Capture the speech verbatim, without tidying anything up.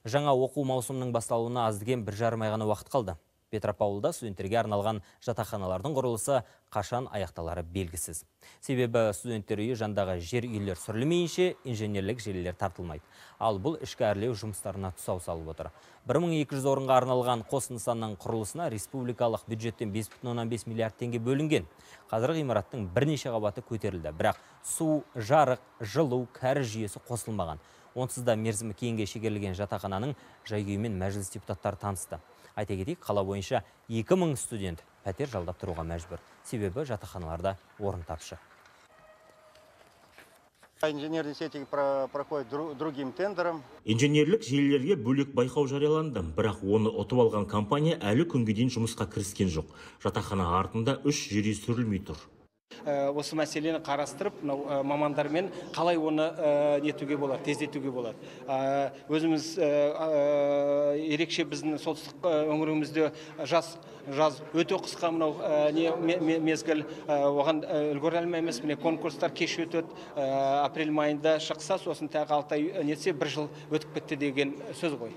Жаңа оқу маусымының басталуына аз дегенде бір жарым ай ғана уақыт қалды. Петропавлда студенттерге арналған жатақханалардың құрылысы қашан аяқталары белгісіз. Себебі студенттер үйі жандағы жер үйлер сүрілмейінше инженерлік желілер тартылмайды. Ал бұл ішкі әрлеу жұмыстарына тұсау салып отыр. бір мың екі жүз орынға арналған қос нысанның құрылысына республикалық бюджеттен бес бүтін оннан бес миллиард теңге бөлінген. Қазір ғимараттың бірнеше қабаты көтерілді, бірақ су, жарық, жылу, кәріз жүйесі қосылмаған. Онсыз да мерзімі кейінге шегерілген жатақхананың жай-күйімен мәжіліс депутаттары танысты. Айта кетейік, қала бойынша екі мың студент пәтер жалдап тұруға мәжбүр. Себебі жатақханаларда орын тапшы. Инженерные сети проходят другим тендером. Инженерлік желілерге бөлек байқау жарияланды, бірақ оны ұтып алған компания әлі күнге дейін жұмысқа кіріскен жоқ. Жатақхана артында үш жер үй сүрілмей тұр. Осы мәселені қарастырып, мамандармен қалай оны нетуге болады, тездетуге болады. Өзіміз ерекше біздің солтүстік өңірімізде жаз жаз өте қысқа мынау мезгіл, оған үлгере алмаймыз. Міне конкурстар кеш өтеді, апрель майында шықса, сосын тағы алты ай нетсе бір жыл өтіп кетті деген сөз ғой.